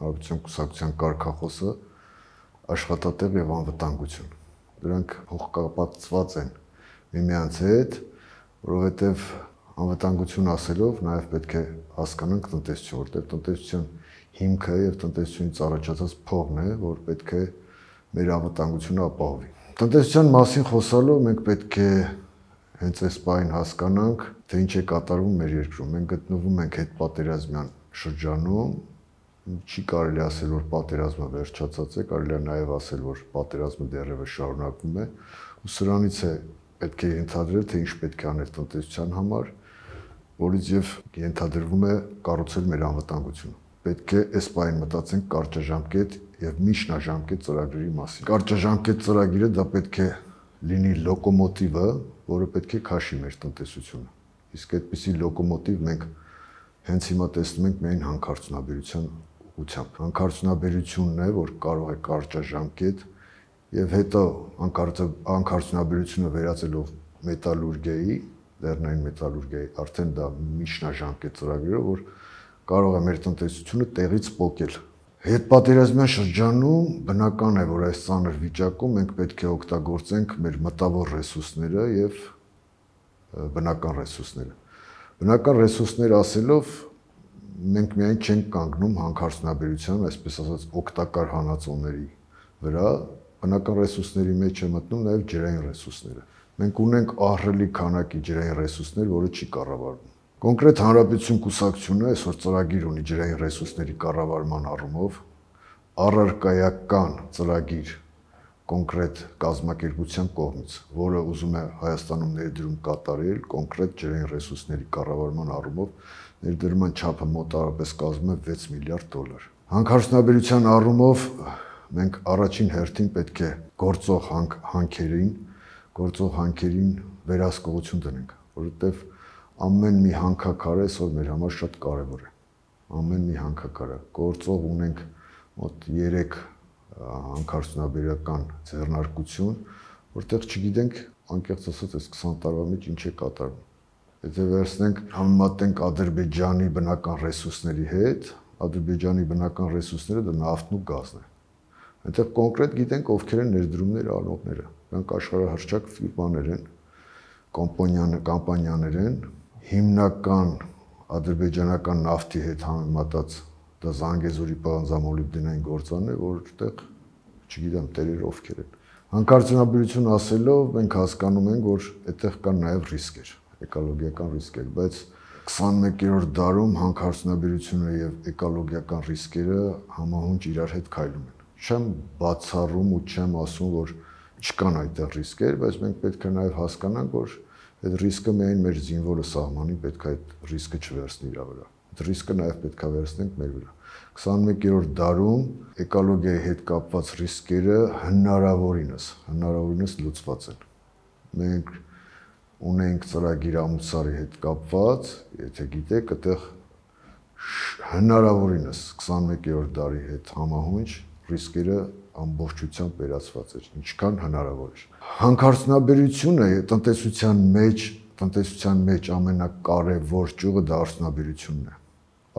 Հանրապետության կուսակցության կարգախոսը աշխատատեղ եւ անվտանգություն։ Դրանք փոխկապակցված են միմյանց հետ, որովհետեւ անվտանգություն ասելով նաեւ պետք է հասկանանք տնտեսություն, որտեղ տնտեսության հիմքը եւ տնտեսությունից առաջացած փողն է, որ պետք է մեր անվտանգությունը ապահովի։ Տնտեսության մասին խոսալով մենք պետք է հենց այս բանը հասկանանք, թե ինչ է կատարվում մեր երկրում։ Մենք գտնվում ենք հետպատերազմյան շրջանում, չի կարելի ասել, որ պատերազմը վերջացած է, կարելի է նաև ասել, որ պատերազմը դեռևս շարունակվում է, ու սրանից է պետք է ենթադրել, թե ինչ պետք է անել տնտեսության համար, որից եւ ենթադրվում է կառուցել մեր անվտանգությունը։ Պետք է այս բանը մտածենք կարճաժամկետ եւ միջնաժամկետ ծրագրերի մասին։ Կարճաժամկետ ծրագիրը դա պետք է լինի լոկոմոտիվը, որը պետք է քաշի մեր տնտեսությունը։ Իսկ այդպիսի լոկոմոտիվ մենք հենց հիմա տեսնում ենք միայն հանքարդյունաբերության ուղղությամբ։ Հանքարդյունաբերությունն է, որ կարող է կարճաժամկետ եւ հետո հանքարդյունաբերությունը վերածելով մետալուրգիայի, լեռնային մետալուրգիայի, արդեն դա միջնաժամկետ ծրագրերով, որ կարող է մեր տնտեսությունը տեղից պոկել։ Հետպատերազմյան շրջանում բնական է, որ այս ծանր վիճակում մենք պետք է օգտագործենք մեր մտավոր ռեսուրսները եւ բնական ռեսուրսները։ Բնական ռեսուրսներ ասելով մենք միայն չենք կանգնում հանքարդյունաբերության, այսպես ասած, օգտակար հանածոների վրա, բնական ռեսուրսների մեջ է մտնում նաեւ ջրային ռեսուրսները։ Մենք ունենք ահռելի քանակի ջրային ռեսուրսներ, որը չի կառավարվում։ Կոնկրետ Հանրապետություն կուսակցությունը այսօր ծրագիր ունի ջրային ռեսուրսների կառավարման առումով, առարկայական ծրագիր կոնկրետ կազմակերպության կողմից, որը ուզում է Հայաստանում ներդրում կատարել կոնկրետ ջրային ռեսուրսների կառավարման առումով, ներդրման չափը մոտավորապես կազմում է 6 միլիարդ դոլար։ Հանքարդյունաբերության առումով մենք առաջին հերթին պետք է գործող հանքերին վերահսկողություն դնենք, որովհետև ամեն մի հանքաքարը այսօր մեր համար շատ կարևոր է։ Ամեն մի հանքաքարը գործող ունենք մոտ 3 հանքարդյունաբերական ձեռնարկություն, որտեղ չգիտենք անկեղծ ասած այս 20 տարվա մեջ ինչ է կատարվում։ Եթե վերցնենք համեմատենք Ադրբեջանի բնական ռեսուրսների հետ, Ադրբեջանի բնական ռեսուրսները դա նավթն ու գազն է։ Այնտեղ կոնկրետ գիտենք ովքեր են ներդրումներ անողները։ Դրանք աշխարհահռչակ ֆիրմաներ են, կամպանիաներ են, հիմնական ադրբեջանական նավթի հետ համեմատած դա Զանգեզուրի պղնձամոլիբդենային գործարն է, որտեղ չգիտեմ տերերը ովքեր են։ Հանքարդյունաբերություն ասելով մենք հասկանում ենք, որ այդտեղ կան նաև ռիսկեր, էկոլոգիական ռիսկեր, բայց 21-րդ դարում հանքարդյունաբերությունը եւ էկոլոգիական ռիսկերը համահունչ իրար հետ քայլում են։ Չեմ բացառում ու չեմ ասում, որ չկան այդտեղ ռիսկեր, բայց մենք պետք է նաև հասկանանք, որ այդ ռիսկը միայն մեր զինվորը սահմանին պետք է այդ ռիսկը չվերցնի իր վրա։ Այդ ռիսկը նաև պետք է վերցնենք մեր վրա։ 21-րդ դարում էկոլոգիայի հետ կապված ռիսկերը հնարավորինս լուծված են։ Մենք ունենք ծրագիր ամուսարի հետ կապված, եթե գիտեք, այդտեղ հնարավորինս 21-րդ դարի հետ համահունչ ռիսկերը ամբողջությամբ վերացված էր, ինչքան հնարավոր էր։ Հանքարդյունաբերությունը տնտեսության մեջ ամենակարևոր ճյուղը դա արդյունաբերությունն է։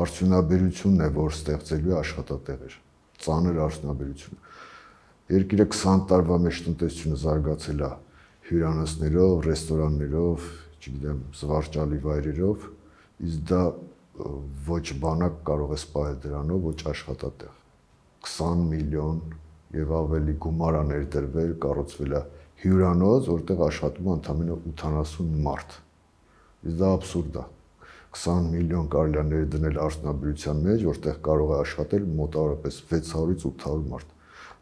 Արդյունաբերությունն է, որ ստեղծելու է աշխատատեղեր, ծանր արդյունաբերությունը։ Երկիրը 20 տարվա մեջ տնտեսությունը զարգացել է հյուրանոցներով, ռեստորաններով, չգիտեմ, զվարճալի վայրերով, իսկ դա ոչ բանակ կարող է սպահել դրանով, ոչ աշխատատեղ։ 20 միլիոն եւ ավելի գումար է ներդրվել, կառուցվել է հյուրանոց, որտեղ աշխատում է ընդամենը 80 մարդ։ Իսկ դա աբսուրդ է։ 20 միլիոն կարելի է ներդնել արդյունաբերության մեջ, որտեղ կարող է աշխատել մոտավորապես 600-ից 800 մարդ։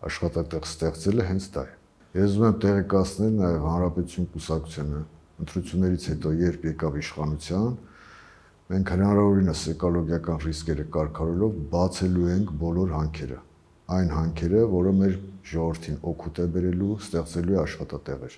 Աշխատատեղ ստեղծելը հենց դա է։ Ես ուզում եմ տեղեկացնել նաև Հանրապետություն կուսակցությունը ընտրություններից հետո երբ եկավ իշխանության, մենք հնարավորինս էկոլոգիական ռիսկերը կարգավորելով բացելու ենք բոլոր հանքերը։ Այն հանքերը, որը մեր ժողովրդին օգուտ է բերելու, ստեղծելու է աշխատատեղեր։